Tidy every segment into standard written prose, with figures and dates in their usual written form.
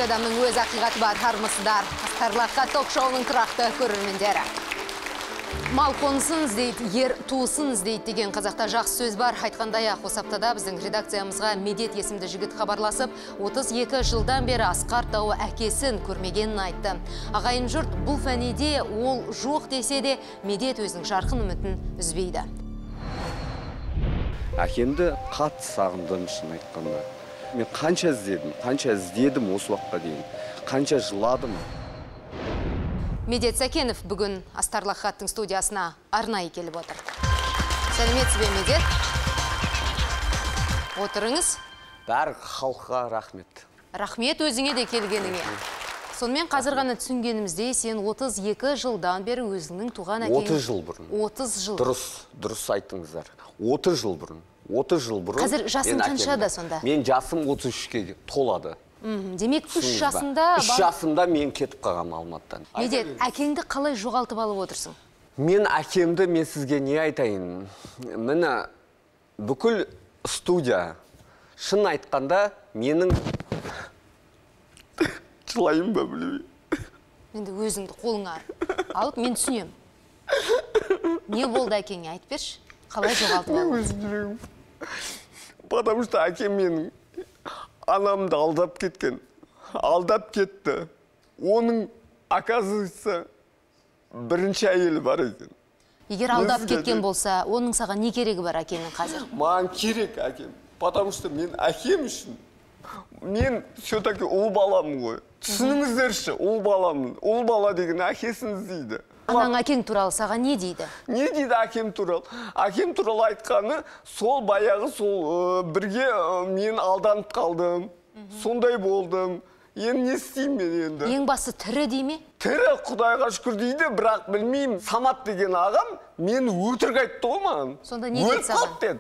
Әр адамның өз ақиқаты бар, армысыздар. Астарлаққа ток-шоуының тұрақты көрермендері. Мал қонысын іздейді, ер туысын іздейді деген қазақта жақсы сөз бар. Айтқандай-ақ, осы аптада біздің редакциямызға Медет есімді жігіт хабарласып, 32 жылдан бері Асқар Тауы әкесін көрмегенін айтты. Ағайын жұрт бұл фәниде ол жоқ десе де, Медет өзінің жарқын үмітін үзбейді. Әкемді қатты сағындым, шын айтқанда. Мен қанша іздедім осы уақытқа дейін, қанша жыладым. Медет Сәкенов бүгін Астарлық хаттың студиясына арнайы келіп отыр. Сәлеметсіз бе, Медет? Отырыңыз. Бәрі халыққа рахмет. Рахмет өзіңе де келгеніңе. Сонымен қазір ғана түсінгенімізде, сен 32 жылдан бері өзіңнің туған әкең... 30 жыл бұрын. 30 жыл. Дұрыс айттыңыздар. 30 жыл бұрын. 30 жыл бұрын. Қазір жасың қаншада сонда? Мен жасым 33-ке толады. Демек 3 жасында... 3 жасында мен кетіп қалғам Алматыдан. Медет, әкеңді қалай жоғалтып алып отырсың? Мен әкемді, мен сізге не айтайын? Мені бүкіл студия, шын айтқанда, менің... Жылайым ба білмей. Менде өзіңді қолыңа алып, мен түсінем. Не болды әкеңе, айтып берші? Қалай жоғалтып алып? Өзім жүрегім. Потому что әкем менің анамды алдап кеткен. Алдап кетті. Оның, оказывается, бірінші әйелі бар екен. Егер алдап кеткен болса, оның саған не керегі бар әкенің қазір? Маған керек әкем. Потому что мен әкем үшін. Мен все-таки ұл баламын ғой. Түсініңіздерші, ұл баламын. Ұл бала деген әкесін іздейді. Анаң әкең туралы саған не дейді? Не дейді әкем туралы? Әкем туралы айтқаны, сол баяғы сол бірге мен алданып қалдым. Сондай болдым. Енді не істеймін мен енді? Ең басы тірі дей ме? Тірі, Құдайға шүкір дейді, бірақ білмеймін. Самат деген ағам мені өтірік айтты ғой маған. Сонда не деді саған?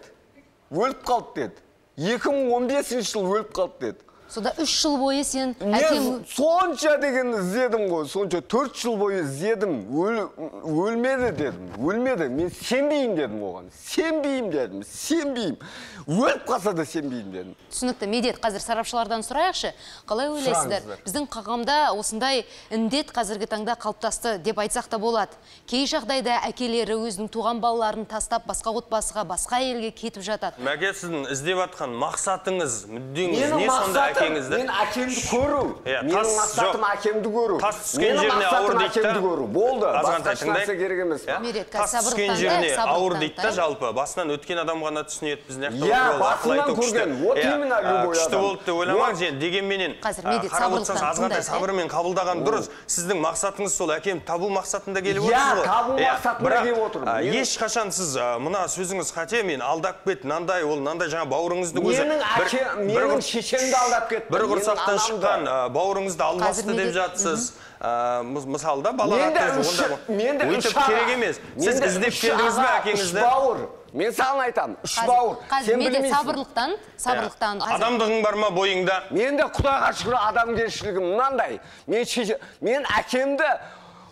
Өліп қалды деді. 2015 жыл өліп қалды деді. Сонда 3 жыл бойы сен әкем... Сонша деген іздедім ғой, сонша 4 жыл бойы іздедім, өлмеді дедім, өлмеді, мен сенбеймін дедім оған, сенбеймін, өліп қалса да сенбеймін дедім. Түсінікті, Медет, қазір сарапшылардан сұрайықшы, қалай ойлайсыздар? Біздің қағамда осындай індет қазіргі таңда қалыптасты деп айтсақ та болады. Кей жағдайда әкелері өзінің туған балаларын тастап, басқа отбасыға, басқа елге кетіп жатады. Мәке, сіздің іздеп атқан мақсатыңыз, мүддеңіз не сонда? Мен әкемді көру. Менің мақсатым әкемді көру. Тас түскен жеріне ауыр дейді. Болды. Басқа нәрсе керек емес. Тас түскен жеріне ауыр дейді, жалпы. Басынан өткен адам ғана түсінеді біздің басынан көрген. Вот именно любой адам. Күшті болды деп ойламаңыз. Дегенменен қарап отырсаңыз азғантай сабырмен қабылдаған дұрыс. Сіздің мақсатыңыз сол әкем табу мақсатында келіп отырсыз ғой. Табу мақсатында келіп отырмын. Ешқашан сіз мына сөзіңіз қате, мен алдап кет, нандай ол, нандай жаңа бауырыңыздың өзі. Менің шешемді алдап кетті. Бір құрсақтан шыққан бауырыңызды алмасты деп жатсыз. Мысалда балаға өйтіп керек емес. Сіз іздеп келдіңіз бе әкеңізді? 3 бауыр. Мен саған айтам, 3 бауыр. Қазір Медет сабырлықтан. Адамдығың бар ма бойыңда? Менде Құдайға шүкір адамгершілігім мынандай. Мен әкемді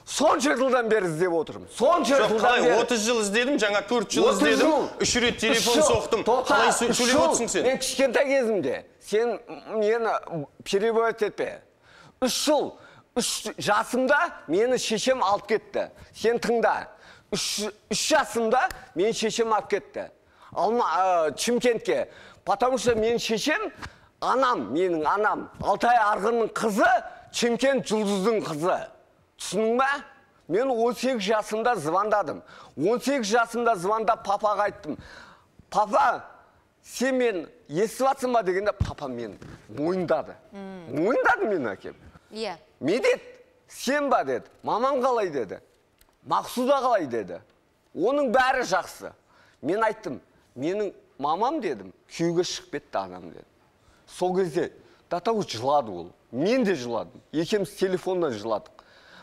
сонша жылдан бері іздеп отырмын. Сонша жылдан бері. 30 жыл іздедім, жаңа 4 жыл іздедім, 3 рет телефон соқтым. Қалай сөйлеп отырсың сен? Мен кішкентай кезімде, сен мені перевод етпе. 3 жыл, 3 жасымда мені шешем алып кетті. Сен тыңда. 3 жасымда мені шешем алып кетті. Чимкентке. Потому что мен шешем, менің анам, Алтай Арғынның қызы, Чимкент Жұлдыздың қызы. Түсінің ба? Мен 18 жасымда звондадым. 18 жасымда звондап папаға айттым. Папа, сен мен естіп атсың ба дегенде, папа мен мойындады. Мойындады мен әкем. Медет, сен ба деді. Мамам қалай деді. Мақсуда қалай деді. Оның бәрі жақсы. Мен айттым, менің мамам дедім, күйеуге шығып кетті анам деді. Сол кезде датау жылады ол. Мен де жыладым. Екеуміз телефоннан жыладық.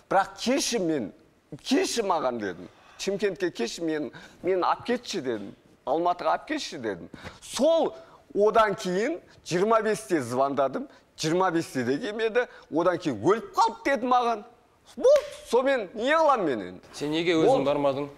Бірақ кеші маған дедім. Чимкентке кеші, мен ап кетші дедім. Алматыға ап кетші дедім. Сол одан кейін 25-те звондадым. 25-те де келмеді. Одан кейін өліп қалып деді маған. Сонымен не қылам мен енді? Сен неге өзің бармадың?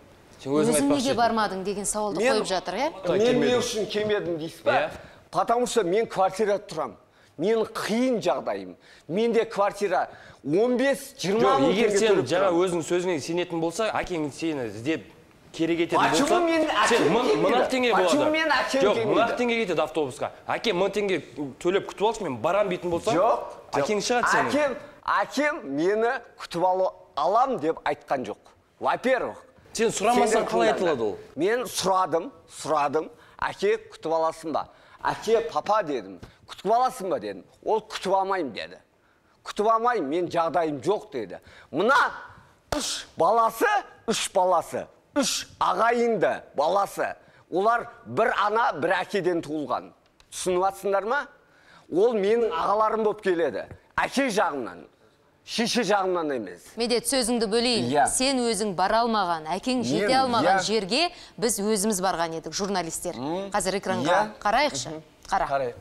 Өзің неге бармадың деген сауалды қойып жатыр, е? Мен не үшін келмедім дейсіз ба? Потому что мен квартирада тұрам. Мен қиын жағдайым. Менде квартира 15-20 мың теңге егер сен төлеп жаңа тұрамын. өзің сөзіңе сенетін болса, әкең сені іздеп керек ететін болса, Почему мен сен әкем 1000 теңге болады. Почему мен әкем Жоқ, келмейді? 1000 теңге кетеді автобусқа. Әкем 1000 теңге төлеп күтіп алшы, мен барам дейтін болсам, Жоқ. әкең шығады сені. Әкем мені күтіп алам деп айтқан жоқ. Во-первых, Сен сұрамасаң қалай айтылады ол? Мен сұрадым. Әке күтіп аласың ба? Әке, папа дедім. Күтіп аласың ба дедім. Ол күтіп алмайым деді. Күтіп алмайым, мен жағдайым жоқ деді. Мына 3 баласы, 3 ағайынды баласы. Олар бір ана, бір әкеден туылған. Түсініп жатсыңдар ма? Ол менің ағаларым болып келеді. Әке жағымнан. Шеше жағымнан емес. Медет, сөзіңді бөлейін. Сен өзің бара алмаған, әкең жете алмаған жерге біз өзіміз барған едік, журналистер. Қазір экранға қарайықшы. Қарайық.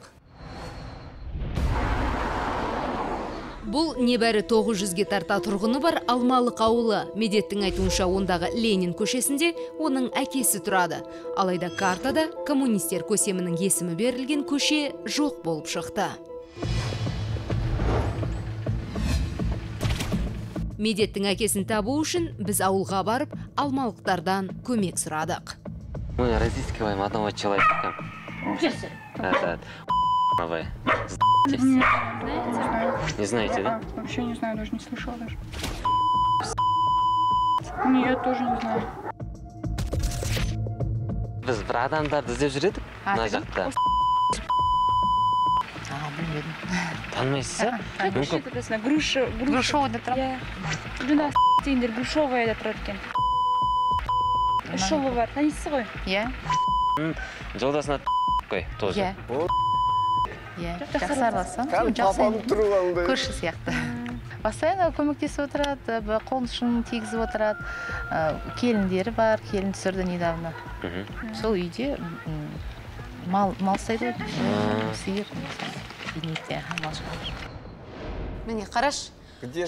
Бұл небәрі 900-ге тарта тұрғыны бар Алмалық ауылы. Медеттің айтуынша ондағы Ленин көшесінде оның әкесі тұрады. Алайда картада коммунистер көсемінің есімі берілген көше жоқ болып шықты. Медеттің әкесін табу үшін біз ауылға барып, алмалықтардан көмек сұрадық. Мы разыскиваем одного человека. Это вы. Не знаете, да? Вообще не знаю, даже не слышала даже. Нет, тоже не знаю. Біз бір адамдарды іздеп жүредік, мына жақта. Танымайсыз, а? Грушовый тұрады. Жүна дейіндер Грушовая тұрады екен. Грушовый бар, танисыз ғой? Иә. Жолдасына қой, тоже. Иә, жақсы араласам. Папам тұрып алды. Көрші сияқты. Постоянно көмектесіп отырады, қолын ұшын тигізіп отырады. Келіндері бар, келін түсірді недавно. Сол үйде мал ұстайды ғой, сиыр. Міне, қараш,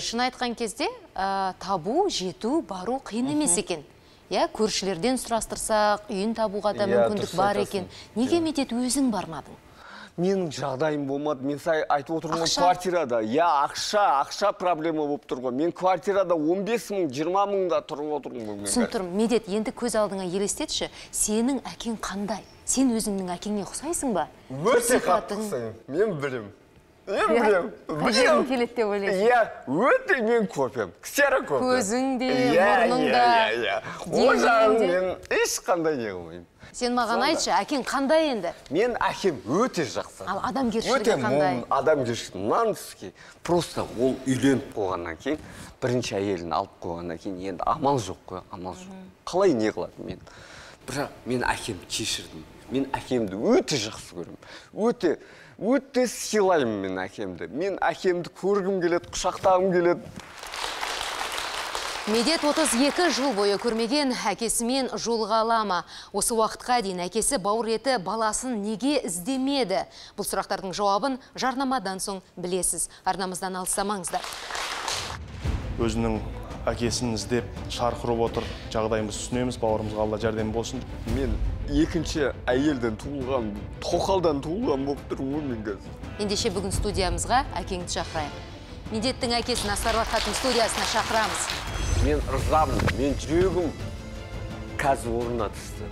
шын айтқан кезде табу, жету, бару қиын емес екен. Көршілерден сұрастырсақ, үйін табуға да мүмкіндік бар екен. Неге Медет өзің бармадың? Менің жағдайым болмады. Мен сай айтып отырмын квартирада. Ақша проблема болып тұр ғой. Мен квартирада 15 мың, 20 мыңда тұрып отырмын. Түсініп тұрмын. Медет, енді көз алдыңа елестетші, сенің әкең қандай? Сен өзіңнің әкеңе ұқсайсың ба? Өте қаттықсың. Мен білем. Қажетім келеді деп ойлайсың. Өте мен көпем. Ксера көпем. Көзің де, мұрның да. О жағын мен ешқандай не қылмаймын. Сен маған айтшы, әкең қандай енді? Мен әкем өте жақсы. Ал адамгершілігі қандай? Адамгершілігі нанский. Просто ол үйленіп қойғаннан кейін, бірінші әйелін алып қойғаннан кейін, енді амал жоқ қой, амал жоқ. Қалай не қылады мен? Бірақ мен әкемді кешірдім. Мен әкемді өте жақсы көремін. Өте сыйлаймын мен әкемді. Мен әкемді көргім келеді, құшақтағым келеді. Медет 32 жыл бойы көрмеген әкесімен жолға алама. Осы уақытқа дейін әкесі бауыр еті баласын неге іздемеді? Бұл сұрақтардың жауабын жарнамадан соң білесіз. Арнамыздан алыстамаңыздар. Өзінің әкесін іздеп шарқырып отыр. Жағдайымыз түсінеміз, бауырымызға Алла жәрдем болсын. Мен екінші әйелден туылған, тоқалдан туылған болып тұрмын мен қазір. Ендеше бүгін студиямызға әкеңді шақырайық. Медеттің әкесін Асқар Рахаттың студиясына шақырамыз. Мен ырзамын, мен жүрегім қазір орнына түсті.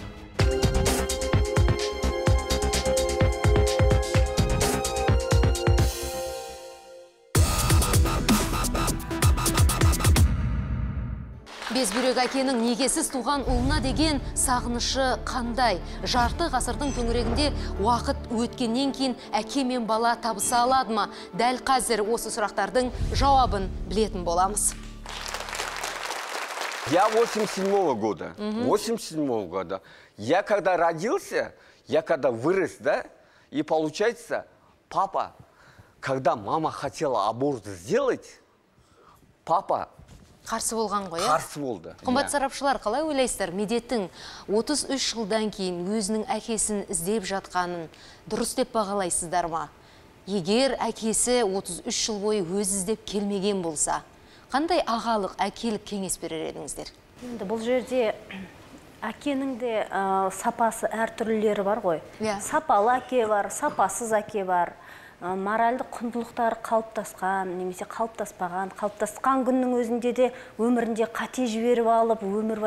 Безбүйрек әкенің негесіз туған ұлына деген сағынышы қандай? Жарты ғасырдың төңірегінде уақыт өткеннен кейін әке мен бала табыса алады ма? Дәл қазір осы сұрақтардың жауабын білетін боламыз. Я 87-го года. 87-го года. Я когда родился, я когда вырос, да, и получается, папа, когда мама хотела аборт сделать, папа Қарсы болған ғой, Қарсы болды. Қымбат сарапшылар, қалай ойлайсыздар? Медеттің 33 жылдан кейін өзінің әкесін іздеп жатқанын дұрыс деп бағалайсыздар ма? Егер әкесі 33 жыл бойы өз іздеп келмеген болса, қандай ағалық, әкелік кеңес берер едіңіздер? Енді бұл жерде әкенің де сапасы әртүрлілері бар ғой. Сапалы әке бар, сапасыз әке бар. моральдық құндылықтары қалыптасқан, немесе қалыптасқан күннің өзінде де өмірінде қате жіберіп алып, өмір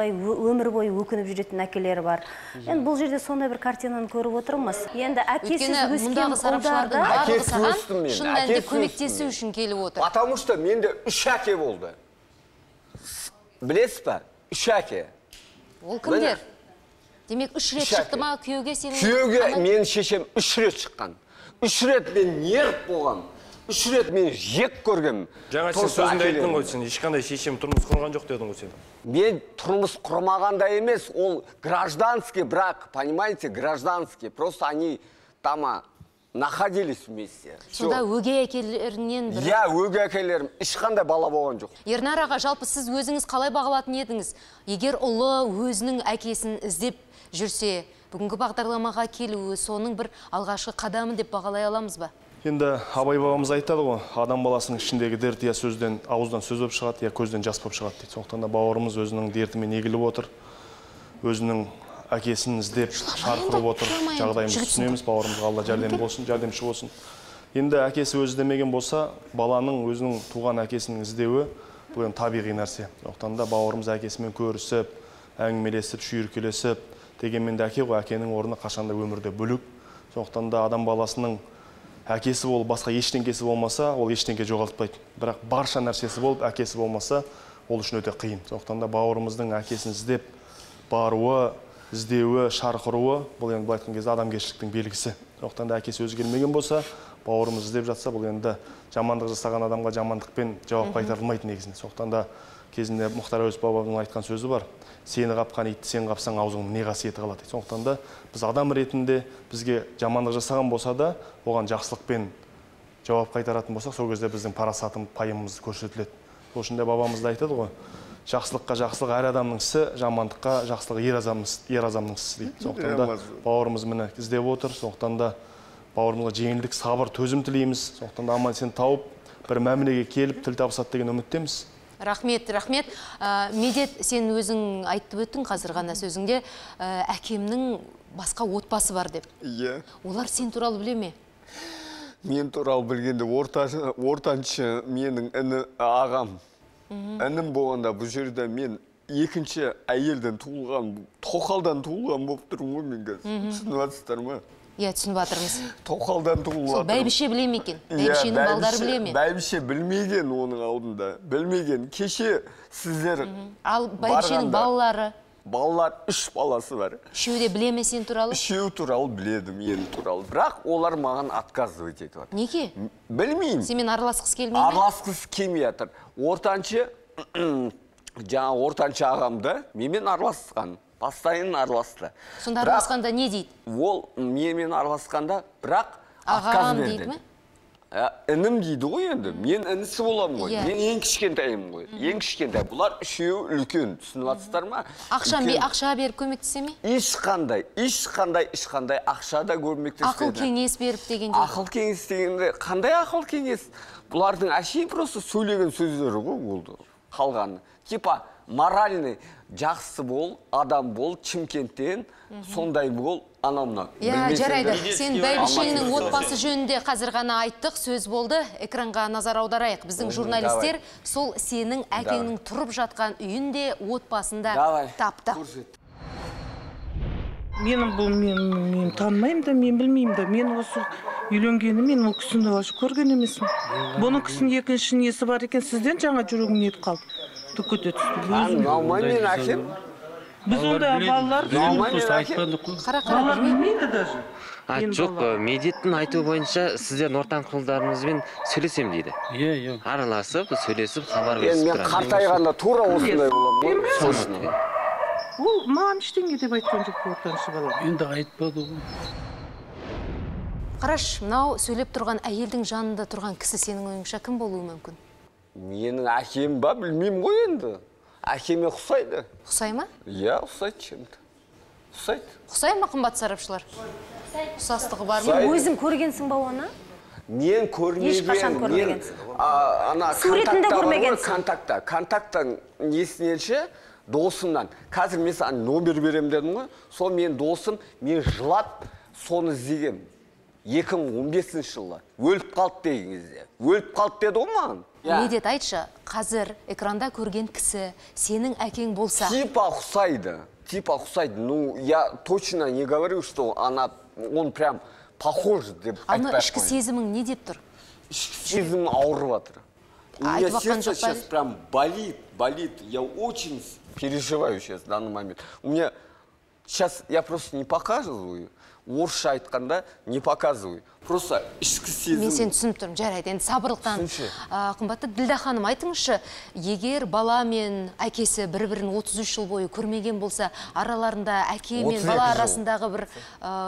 бойы өкініп жүретін әкелері бар. Енді бұл жерде сондай бір картинаны көріп отырмыз. Енді әкесіз өскен қолдарда шын мәнінде көмектесу үшін келіп отыр. Потому что менде 3 әке болды. Білесіз ба? 3 әке. Ол кімдер? Демек 3 рет шықты ма күйеуге сенің? Күйеуге мен шешем 3 рет шыққан. 3 рет мен неріп болғам. 3 рет мен жек көргем. Жаңа сен сөзінде айттың ғой, сен ешқандай шешем тұрмыс құрған жоқ дедің ғой сен. Мен тұрмыс құрмағанда емес, ол гражданский брак, понимаете, гражданский. Просто они там находились вместе. Сонда өгей әкелерінен бір... Я, өгей әкелерім ешқандай бала болған жоқ. Ернар аға, жалпы сіз өзіңіз қалай бағалатын едіңіз? Егер ұлы өзінің әкесін іздеп жүрсе, бүгінгі бағдарламаға келуі соның бір алғашқы қадамы деп бағалай аламыз ба? Енді Абай бабамыз айтады ғой, адам баласының ішіндегі дерт я сөзден, ауыздан сөз болып шығады, я көзден жас болып шығады дейді. Сондықтан да бауырымыз өзінің дертімен егіліп отыр, өзінің әкесін іздеп шарқырып отыр, жағдайымызды түсінеміз, бауырымызға Алла жәрдемші болсын. Енді әкесі өзі іздемеген болса, баланың өзінің туған әкесінің іздеуі бұл табиғи нәрсе. Сондықтан да бауырымыз әкесімен көрісіп, әңгімелесіп, шүйіркелесіп, дегенмен де әке ғой, әкенің орны қашанда өмірде бөлек. Сондықтан да адам баласының әкесі болып, басқа ештеңкесі болмаса, ол ештеңке жоғалтпайды. Бірақ барша нәрсесі болып, әкесі болмаса, ол үшін өте қиын. Сондықтан да бауырымыздың әкесін іздеп баруы, іздеуі, шарқыруы, бұл енді былай айтқан кезде адамгершіліктің белгісі. Сондықтан да әкесі өзі келмеген болса, бауырымыз іздеп жатса, бұл енді жамандық жасаған адамға жамандықпен жауап қайтарылмайды негізінде. Сондықтан да кезінде Мұхтар Әуезов бабамның айтқан сөзі бар. Сені қапқан итті сен қапсаң аузыңның не қасиеті қалады. Сондықтан да біз адам ретінде бізге жамандық жасаған болса да, оған жақсылықпен жауап қайтаратын болсақ, сол кезде біздің парасатымыз, пайымымыз көрсетіледі. Сол үшін де бабамыз да айтады ғой, жақсылыққа жақсылық әр адамның ісі, жамандыққа жақсылық ер азамның ісі дейді. Сондықтан да бауырымыз мені іздеп отыр. Сондықтан да бауырымызға жеңілдік, сабыр, төзім тілейміз. Сондықтан да аман сен тауып, бір мәмілеге келіп, тіл табысады деген үміттеміз. Рахмет. Медет, сен өзің айтып өттің қазір ғана сөзіңде, әкемнің басқа отбасы бар деп. Иә. Олар сен туралы біле ме? Мен туралы білгенде ортаншы менің ағам. Інім болғанда бұл жерде мен екінші әйелден туылған, тоқалдан туылған болып тұрмын ғой мен қазір. Түсініп жатсыздар ма? Иә, түсініп жатырмыз. Тоқалдан туылып жатырмын. Бәйбіше біле ме екен? Бәйбішенің балдары біле ме? Бәйбіше білмеген оның алдында. Білмеген. Кеше сіздер ал бәйбішенің балалары? Балалар 3 баласы бар. Үшеуі де біле ме сен туралы? Үшеуі туралы біледі, мен туралы. Бірақ олар маған отказывать етіп жатыр. Неге? Білмеймін. Сенімен араласқысы келмей ме? Араласқысы келмей жатыр. Ортаншы ағамды менімен араласқан. Постоянно араласты. Сонда араласқанда не дейді? Ол менімен араласқанда, бірақ ағам дейді ме? Інім дейді ғой енді. Мен інісі боламын ғой. Мен ең кішкентайым ғой. Ең кішкентай. Бұлар үшеуі үлкен. Түсініп жатсыздар ма? Ақша беріп көмектесе ме? Ешқандай ақша да көмектеспеді. Ақыл кеңес беріп дегенде. Ақыл кеңес дегенде, қандай ақыл кеңес? Бұлардың әшейін просто сөйлеген сөздері ғой болды. Қалғаны. Типа моральный, жақсы бол, адам бол, Шымкенттен, сондай бол, анамна. Иә, жарайды. Сен бәйбішеңнің отбасы жөнінде қазір ғана айттық, сөз болды. Экранға назар аударайық. Біздің журналистер сол сенің әкеңнің тұрып жатқан үйінде отбасында тапты. Менің бұл мен танымаймын да, мен білмеймін да. Мен осы үйленгені мен ол кісіні көрген емеспін. Бұның кісінің екінші несі бар екен, сізден жаңа жүрегім нетіп қалды. Түкөте түсті. Наумаймен әкем. Біз онда балалар білмейді даже. Жоқ, Медеттің айтуы бойынша сіздердің ортаңқылдарыңызбен сөйлесем дейді. Иә. Араласып, сөйлесіп, хабар берісіп тұрады. Мен қартайғанда тура осындай боламын. Ол маған ештеңе деп айтқан жоқ ортаншы балам. Енді айтпады ғой. Қараш, мынау сөйлеп тұрған әйелдің жанында тұрған кісі сенің ойыңша кім болуы мүмкін? Менің әкем ба, білмеймін ғой енді. Әкеме ұқсайды. Ұқсай ма? Иә, ұқсайды чем-то. Ұқсайды. Ұқсай ма қымбат сарапшылар? Ұқсастығы бар ма? Өзің көргенсің ба оны? Мен көрмеген. Ешқашан көрмегенсің. Суретінде көрмегенсің. Контакттан несіненше досымнан. Қазір мен номер берем дедім ғой. Сол мен досым, мен жылап, соны іздегем. 2015 жылы өліп қалды деген кезде. Өліп қалды деді ғой маған. Медет, айтшы, қазір экранда көрген кісі сенің әкең болса. Типа ұқсайды. Ну, я точно не говорю, что он прям похож деп айтпай ақ қояйын. Ішкі сезімің не деп тұр? Ішкі сезімім ауырып жатыр. У меня сердце сейчас прям болит. Я очень переживаю сейчас в данный момент. У меня сейчас я просто не показываю. Орысша айтқанда не показываю. Просто ішкі сезім. Мен сен түсініп тұрмын, жарайды. Енді сабырлықтан. Қымбатты Ділда ханым, айтыңызшы, егер бала мен әкесі бір-бірін 33 жыл бойы көрмеген болса, араларында әке мен бала арасындағы бір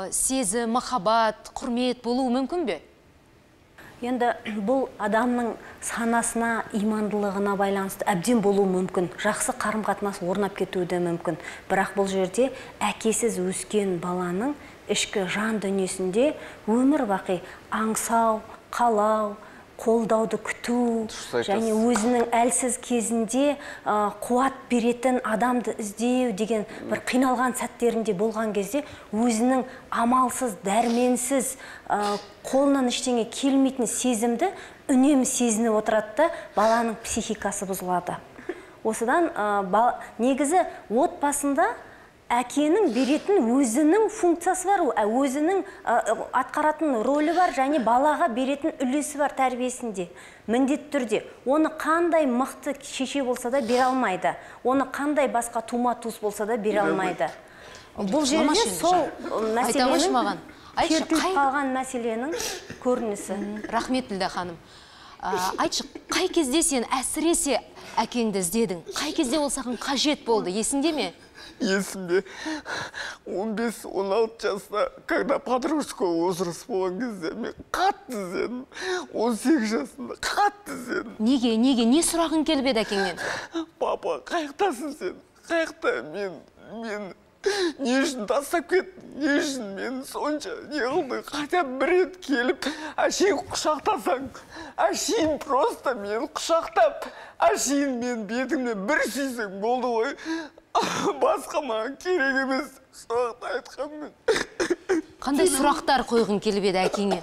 сезім, махаббат, құрмет болуы мүмкін бе? Енді бұл адамның санасына, имандылығына байланысты әбден болуы мүмкін. Жақсы қарым-қатынас орнап кетуі де мүмкін. Бірақ бұл жерде әкесіз өскен баланың ішкі жан дүниесінде өмір бақи аңсау, қалау, қолдауды күту және өзінің әлсіз кезінде қуат беретін адамды іздеу деген бір қиналған сәттерінде болған кезде өзінің амалсыз, дәрменсіз, қолынан ештеңе келмейтін сезімді үнемі сезініп отырады, баланың психикасы бұзылады. Осыдан негізі отбасында әкенің беретін өзінің функциясы бар, өзінің атқаратын рөлі бар, және балаға беретін үлесі бар тәрбиесінде. Міндетті түрде. Оны қандай мықты шеше болса да бере алмайды. Оны қандай басқа тума-туыс болса да бере алмайды. Бұл жерде сол мәселенің кертіліп қалған мәселенің көрінісі. Рахмет, Ділда ханым. Айтшы, қай кезде сен әсіресе әкеңді іздедің? Қай кезде ол саған қажет болды? Есіңде ме? Есімде 15-16 жаста, когда подростковый возраст болған кезде, мен қатты іздедім. 18 жасында қатты іздедім. Неге? Не сұрағың келіп еді әкеңнен? Папа, қаяқтасың сен? Қаяқта мен не үшін тастап кеттің? Не үшін мен сонша не қылдың? Хотя бір рет келіп, әшейін құшақтасаң, әшейін просто мен құшақтап, әшейін мен бетімнен бір сүйсең болды ғой. Басқа маған керек емес, сұрақты айтқанмен. Қандай сұрақтар қойғың келіп еді әкеңе?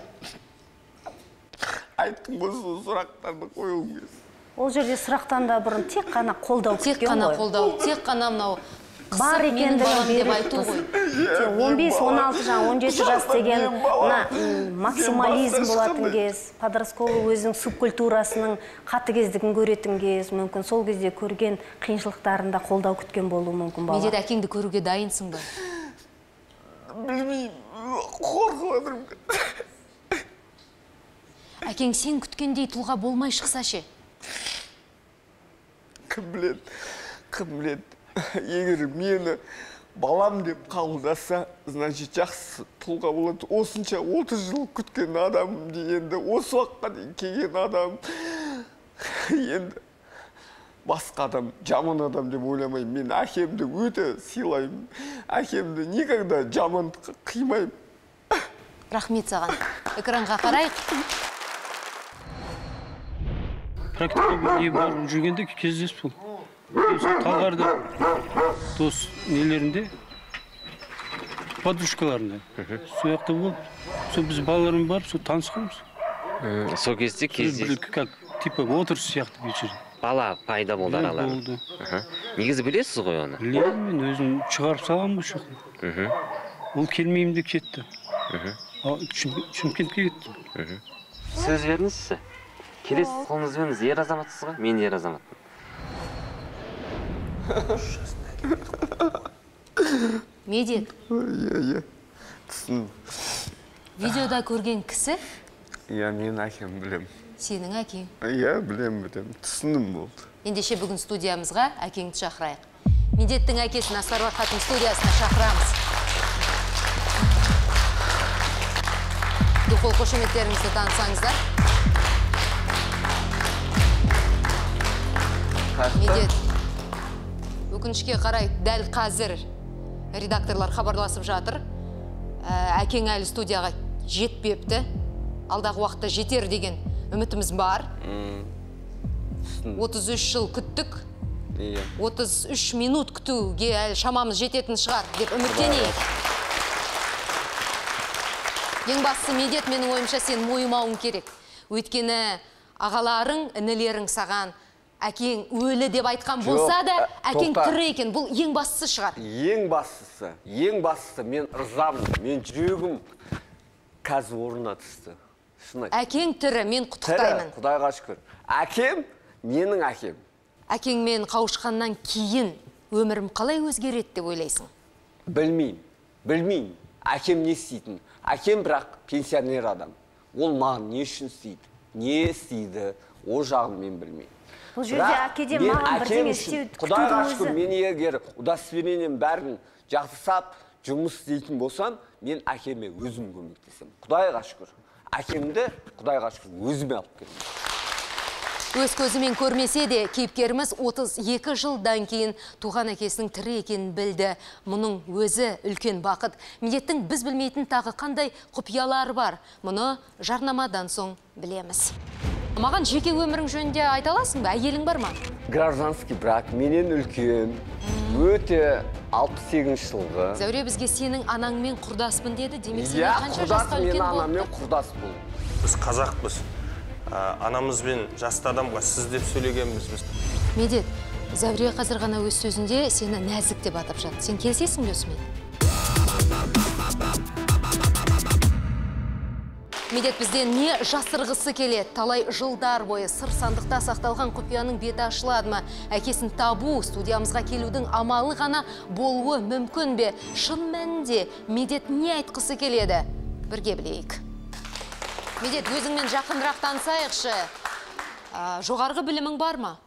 Айттым осы сұрақтарды қойғым келді. Ол жерде сұрақтан да бұрын тек қана қолдау күткен ғой. Тек қана мынау бар екендігін деп айту ғой. 15-16 жан, 17 жас деген максимализм болатын кез, подростковый өзінің субкультурасының қатыгездігін көретін кез, мүмкін сол кезде көрген қиыншылықтарында қолдау күткен болуы мүмкін бала. Медет, әкеңді көруге дайынсың ба? Білмеймін, қорқып отырмын. Әкең сен күткендей тұлға болмай шықса ше? Кім біледі. Егер мені балам деп қабылдаса, значит, жақсы тұлға болады. Осынша 30 жыл күткен адам дегенде, осы уақытқа дейін келген адам, енді басқа адам, жаман адам деп ойламаймын. Мен әкемді өте сыйлаймын. Әкемді никогда жаман қимаймын. Рахмет саған. Экранға қарайық. Практика барып жүргенде кездесіп бұл. Талғарда дос нелерінде, подружкаларында. Сол жақта болып, сол біз балаларым барып, сол танысқанбыз. Сол кезде как типа отырыс сияқты вечер. Бала пайда болды араларында. Негізі білесіз ғой оны? Білемін, мен өзім шығарып салған бұл шоқын. Ол келмеймін де кетті. Шымкентке кетті. Сөз беріңізші. Келесі қолыңызбен ер азаматсыз ғой? Мен ер азаматпын. Медет. Түсін. Видеода көрген кісі? Мен әкем білем. Сенің әкең? Білем. Түсінім болды. Ендеше бүгін студиямызға әкеңді шақырайық. Медеттің әкесін Асарбар Хатым студиясына шақырамыз. Дұқол қошеметтеріңізді танысаңыздар. Медет. Өкінішке қарай, дәл қазір редакторлар хабарласып жатыр. Әкең әлі студияға жетпепті. Алдағы уақытта жетер деген үмітіміз бар. 33 жыл күттік. 33 минут күтуге әлі шамамыз жететін шығар деп үміттенейік. Ең бастысы Медет, менің ойымша сен мойымауың керек. Өйткені ағаларың, інілерің саған әкең өлі деп айтқан болса да, әкең тірі екен. Бұл ең бастысы шығар. Ең бастысы, мен ырзамын, мен жүрегім қазір орнына түсті. Әкең тірі, мен құттықтаймын. Құдайға шүкір. Әкем, менің әкем. Әкеңмен қауышқаннан кейін өмірім қалай өзгереді деп ойлайсың? Білмеймін. Әкем не істейтін? Әкем бірақ пенсионер адам. Ол маған не үшін істейді? Не істейді? О жағын мен білмеймін. Бұл жерде әкеден маған бірдеңе істеуді күтудің өзі. Құдайға шүкір, мен егер удостоверением бәрін жақсысап жұмыс істейтін болсам, мен әкеме өзім көмектесем. Құдайға шүкір. Әкемді Құдайға шүкір өзіме алып келдім. Өз көзімен көрмесе де, кейіпкеріміз 32 жылдан кейін туған әкесінің тірі екенін білді. Мұның өзі үлкен бақыт. Медеттің біз білмейтін тағы қандай құпиялары бар. Мұны жарнамадан соң білеміз. Маған жеке өмірің жөнінде айта аласың ба? Әйелің бар ма? Гражданский брак, менен үлкен, өте 68 жылғы. Зәуре бізге сенің анаңмен құрдаспын деді. Демек сенен қанша жасқа үлкен мен болыпты? анаммен құрдас бол. Біз қазақпыз. Анамызбен жасты адамға сіз деп сөйлегенбіз біз. Медет, Зәуре қазір ғана өз сөзінде сені нәзік деп атап жатыр. Сен келісесің бе осымен? Медет, бізден не жасырғысы келеді? Талай жылдар бойы сыр сандықта сақталған құпияның беті ашылады ма? Әкесін табу, студиямызға келудің амалы ғана болуы мүмкін бе? Шын мәнінде Медет не айтқысы келеді? Бірге білейік. Медет, өзіңмен жақынырақ танысайықшы. Жоғарғы білімің бар ма?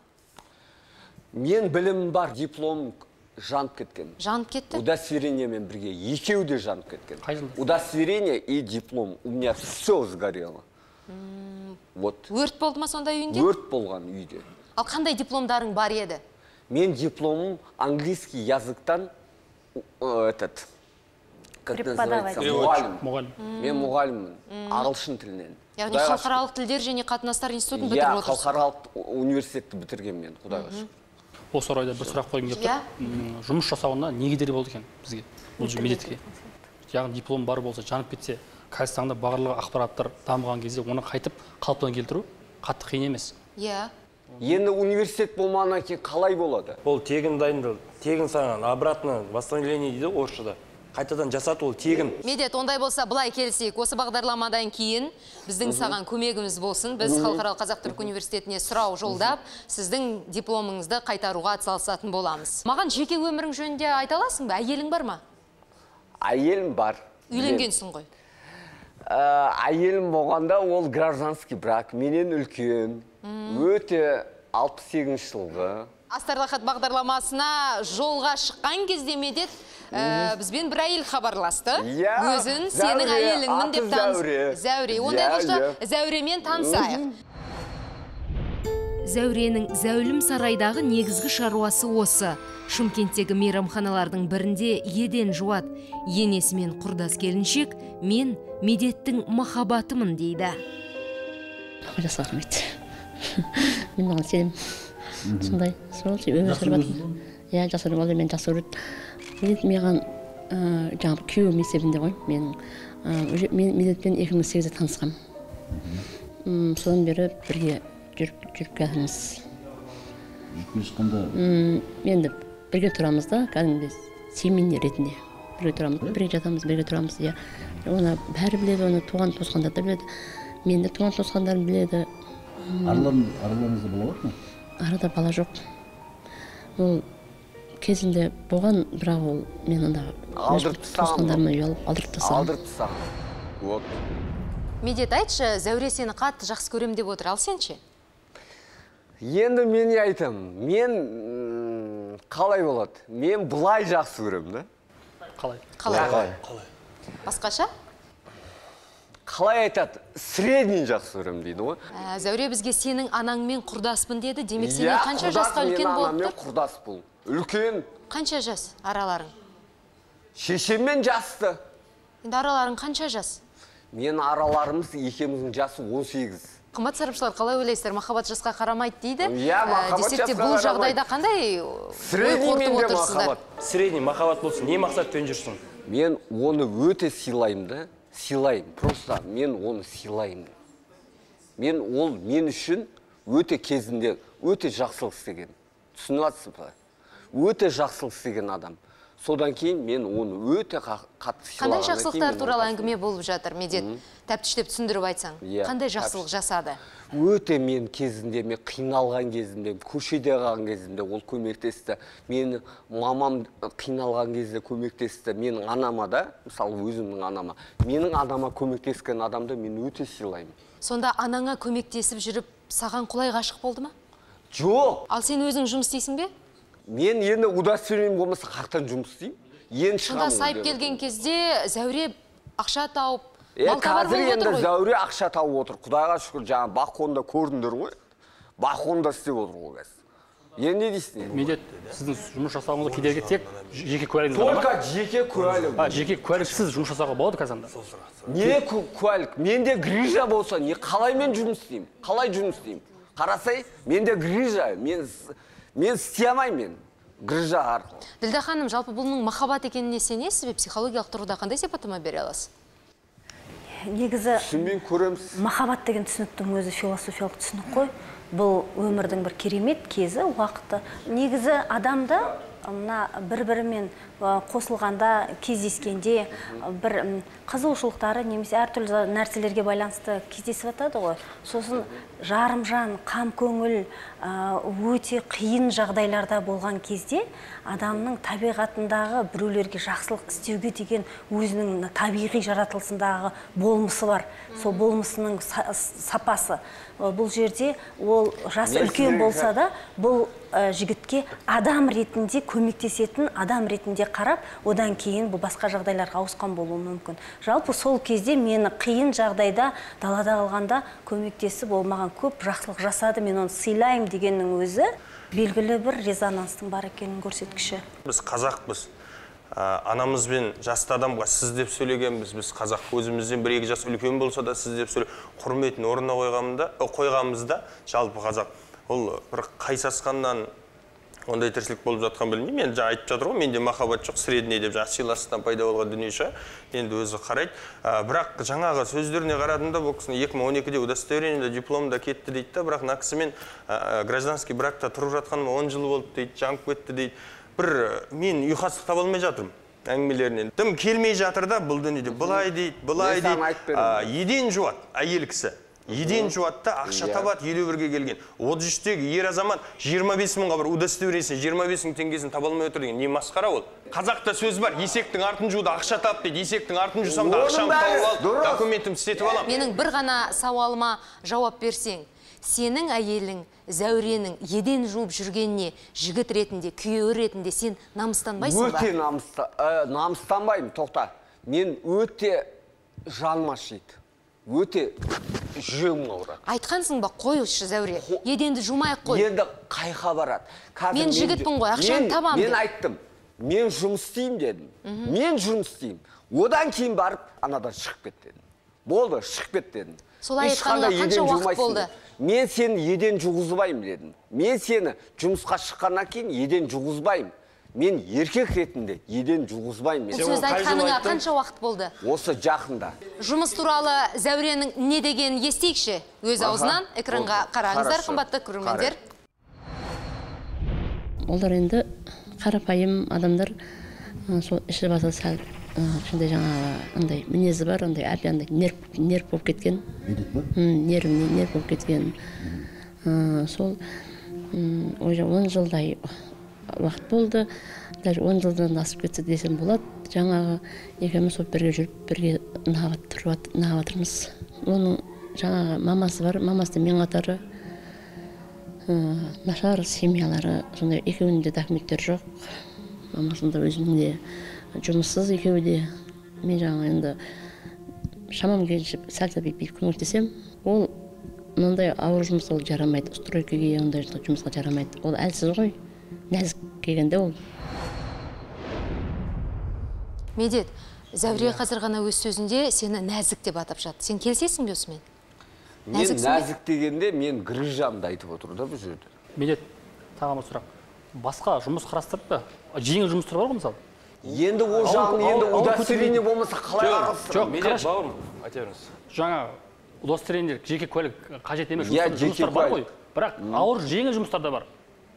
Мен білімім бар, диплом жанып кеткен. Жанып кетті? Удостоверениемен бірге, екеуі де жанып кеткен. Удостоверение и диплом. У меня все сгорело. Өрт болды ма сонда үйінде? Өрт болған үйде. Ал қандай дипломдарың бар еді? Мен дипломым английский языктан мұғалім. Мен мұғаліммін, ағылшын тілінен. Яғни халықаралық тілдер және қатынастар институтын бітіріп отырсың? Халықаралық университетті бітірген мен, Құдайға шүкір. Осы орайда бір сұрақ қойғым келіп тұр. Жұмыс жасауына не кедергі болды екен бізге, бұл Медетке? Яғни диплом бар болса, жанып кетсе, Қазақстанда барлығы ақпараттар дамыған кезде оны қайтып қалыптан келтіру қатты қиын емес. Енді университет болмағаннан кейін қалай болады? Ол тегін дайындалды, тегін саған обратно восстановление дейді орысшада. Қайтадан жасат ол тегін. Медет, ондай болса былай келсек, осы бағдарламадан кейін біздің саған көмегіміз болсын. Біз Халықаралық Қазақ-Түрік университетіне сұрау жолдап, сіздің дипломыңызды қайтаруға атсалысатын боламыз. Маған жеке өмірің жөнінде айта аласың ба? Әйелің бар ма? Әйелім бар. Үйленгенсің ғой. Әйелім болғанда ол гражданский брак, менен үлкен, өте 68 жылғы. Астарлы-Ахат бағдарламасына жолға шыққан кезде Медет бізбен бір әйел хабарласты. Өзін сенің әйеліңмін деп танысты. Зәуре. Ондай болса Зәуремен танысайық. Зәуренің зәулім сарайдағы негізгі шаруасы осы. Шымкенттегі мейрамханалардың бірінде еден жуат. Енесімен құрдас келіншек, мен Медеттің махаббатымын дейді. Жақсы рахмет. Мен оған сенем. Сондай, сол өмір сүріп жатырмын. Иә, жақсы көреді, мен жақсы көреді. Маған жаңағы күйеуім есебінде ғой. Мен Медетпен 2008-де танысқам. Содан бері бірге жүріп келатырмыз. Енді бірге тұрамыз да, кәдімгі семья ретінде. Бірге тұрамыз, бірге жатамыз, бірге тұрамыз. Оны бәрі біледі, оны туған туысқандар да біледі. Мен де туған туысқандарым біледі. Араларыңызда бала бар ма? Арада бала жоқ. Ол кезінде болған, бірақ ол мен анда туысқандарыма ұялып алдырып тастағам. Медет, айтшы, Зәуре сені қатты жақсы көрем деп отыр, ал сенше? Енді мен айтам, мен қалай болады? Мен бұлай жақсы көрем, да? Қалай? Басқаша? Қалай айтады? Средний жақсы көрем дейді ғой. Зәуре бізге сенің анаңмен құрдаспын деді. Демек сенен қанша жасқа үлкен болып тұр? Анаммен құрдас бұл. Үлкен. Қанша жас араларың? Шешеммен жасты. Енді араларың қанша жас? Мен араларымыз екеуміздің жасы 18. Қымбат сарапшылар, қалай ойлайсыздар? Махаббат жасқа қарамайды дейді. Махаббат жасқа бұл жағдайда қандай ой қорытып отырсыздар? Средний махаббат болсын, не мақсатпен жүрсің? Мен оны өте сыйлаймын да. сыйлаймын. Просто мен оны сыйлаймын. Ол мен үшін өте кезінде өте жақсылық істеген. Түсініп жатсыз ба? Өте жақсылық істеген адам. Содан кейін мен оны өте қатты сыйлағаннан кейін. Қандай жақсылықтар туралы әңгіме болып жатыр, Медет? Тәптіштеп түсіндіріп айтсаң. Қандай жақсылық жасады? Өте мен кезінде, мен қиналған кезінде, көшеде қалған кезінде ол көмектесті. Мені мамам қиналған кезде көмектесті. Менің анама да, мысалы өзімнің анама, менің анама көмектескен адамды мен өте сыйлаймын. Сонда анаңа көмектесіп жүріп, саған құлай ғашық болды ма? Жоқ. Ал сен өзің жұмыс істейсің бе? Мен енді удостоверением болмаса қақтан жұмыс істеймін. Енді шығамын. Сонда сайып келген кезде Зәуре ақша тауып, мал табар болып отыр ғой. Зәуре ақша тауып отыр. Құдайға шүкір, жаңа бақонда көрдіңдер ғой. Бақонда істеп отыр ғой қазір. Енді не дейсің? Медет, сіздің жұмыс жасауыңызға кедергі тек жеке куәлігіңіз бар ма? Только жеке куәлік. Жеке куәліксіз жұмыс жасауға болады қазанда? Не куәлік? Менде грижа болса, не қалай мен жұмыс істеймін? Қалай жұмыс істеймін? Қарасай, менде грижа, мен істей алмаймын, грижа арқылы. Ділдә ханым, жалпы бұның махаббат екеніне сенесіз бе? Психологиялық тұрғыда қандай сипаттама бере аласыз? Негізі түсінбей көреміз. Махаббат деген түсініктің өзі философиялық түсінік қой. Бұл өмірдің бір керемет кезі, уақыты. Негізі адамда мына бір-бірімен қосылғанда, кездескенде бір қызығушылықтары немесе әртүрлі нәрселерге байланысты кездесіп жатады ғой. Сосын жарымжан, қам көңіл өте қиын жағдайларда болған кезде адамның табиғатындағы біреулерге жақсылық істеуге деген өзінің табиғи жаратылысындағы болмысы бар. Сол болмысының сапасы. Бұл жерде ол жасы үлкен болса да, бұл жігітке адам ретінде көмектесетін адам ретінде қарап, одан кейін бұл басқа жағдайларға ауысқан болуы мүмкін. Жалпы сол кезде мені қиын жағдайда далада қалғанда көмектесіп болмаған көп жақсылық жасады, мен оны сыйлаймын дегеннің өзі белгілі бір резонанстың бар екенін көрсеткіші. Біз қазақпыз. Анамызбен жасты адамға сіз деп сөйлегенбіз. Біз қазақ өзімізден бір-екі жас үлкен болса да сіз деп құрметін орнына қойғанымызда жалпы қазақ. Ол бір қайсасқаннан ондай тіршілік болып жатқан білмеймін. Мен жаңа айтып жатыр ғой, менде махаббат жоқ, средний деп жаңа сыйластықтан пайда болған дүние шығар. Енді өзі қарайды. Бірақ жаңағы сөздеріне қарадым бұл кісінің 2012-де удостоверениеде дипломда кетті дейді да, бірақ мына кісімен гражданский бракта тұрып жатқаныма 10 жыл болды дейді, жанып кетті дейді. Бір мен ұйқастық таба алмай жатырмын әңгімелерінен. Дым келмей жатыр да бұл дүниеде. Былай дейді. Еден жуат әйел кісі. Еден жуатта ақша табат 51-ге келген. 33-тегі ер азамат 25 мыңға бір удостоверениесін 25 мың теңгесін таба алмай отыр деген. Не масқара ол? Қазақта сөз бар, есектің артын жууда ақша тап дейді. Есектің артын жусам да ақшамды тауып алып, документімді істетіп аламын. Менің бір ғана сауалыма жауап берсең, сенің әйелің Зәуренің еден жуып жүргеніне жігіт ретінде, күйеуі ретінде сен намыстанбайсың ба? Өте намыстанбаймын, тоқта. Мен өте жаныма шиді. Өте жүрегім ауырады. Айтқансың ба, қойшы Зәуре, еденді жумайық қой. Енді қайқа барады. Мен жігітпін ғой, ақшаны табам. Мен айттым, мен жұмыс істеймін дедім. Мен жұмыс істеймін. Одан кейін барып, анадан шығып кет дедім. Болды, шығып кет дедім. Солай айтқанға қанша уақыт болды? Мен сені еден жуғызбаймын дедім. Мен сені жұмысқа шыққаннан кейін еден жуғызбаймын. Мен еркек ретінде еден жуғызбаймын. Бұл сөзді айтқаныңа қанша уақыт болды? Осы жақында. Жұмыс туралы Зәуренің не дегенін естейікші. Өз аузынан экранға қараңыздар, қымбатты көрермендер. Олар енді қарапайым адамдар, сол іші басы сәл шындай жаңағы андай мінезі бар, андай әбе андай нерв болып кеткен. Нерв болып кеткен. Сол 10 жылдай уақыт болды. Даже 10 жылдан асып кетсе десем болады. Жаңағы екеуміз бірге жүріп, бірге нағаватырмыз. Оның жаңағы мамасы бар, мамасы мен қатары нашар семьялары, сондай екеуінің де документтері жоқ. Мамасында өзінің де жұмыссыз екеуі де. Мен жаңа енді шамам келіп сәл бейіп көмектесем, ол мынандай ауыр жұмыс ол жарамайды, стройкаге ондай жұмысқа жарамайды. Ол әлсіз ғой, нәзік келгенде ол. Медет, Зәуре қазір ғана өз сөзінде сені нәзік деп атап жатты. Сен келісесің бе осымен? Мен нәзік дегенде мен грижамды айтып отыр да бұл жерде. Медет, тағама сұрақ. Басқа жұмыс қарастырып па? Жеңіл жұмыстар бар ғой мысалы? Енді о жағын енді удостоверение болмаса қалай араластырады? Жоқ, медет бауырым, айта беріңіз. Жаңа удостоверение жеке куәлік қажет емес жұмыстар бар ғой. Бірақ ауыр жеңіл жұмыстар да бар.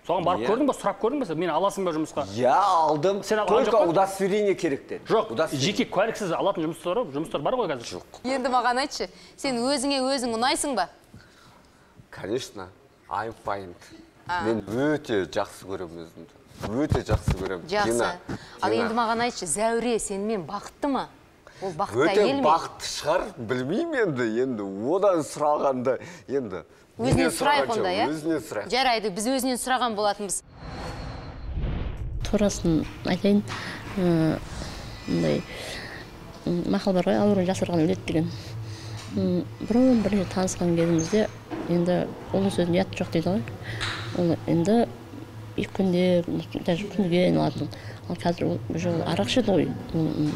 Соған барып көрдің ба, сұрап көрдің ба, мені аласың ба жұмысқа? Алдым. Только удостоверение керек деді. Жоқ, жеке куәліксіз алатын жұмыстар бар ғой қазір. Жоқ. Енді маған айтшы, сен өзіңе өзің ұнайсың ба? Конечно, I'm fine. Мен өте жақсы көремін өзімді. Өте жақсы көремін. Жақсы. Ал енді маған айтшы, Зәуре сенімен бақытты ма? Ол бақытты әйел ме? Өте бақытты шығар, білмеймін енді. Одан сұрағанда енді. Өзінен сұрайық онда, иә? Өзінен сұрайық. Жарайды, біз өзінен сұраған болатынбыз. Турасын айтайын, мақал бар ғой, ауырын жасырған өледі деген. Бұрын бірінші танысқан кезімізде, енді оның сөзін ұят жоқ дейді ғой. Ол енді екі күнде, даже күнге айналатын. Ал қазір ол арақ ішеді ғой,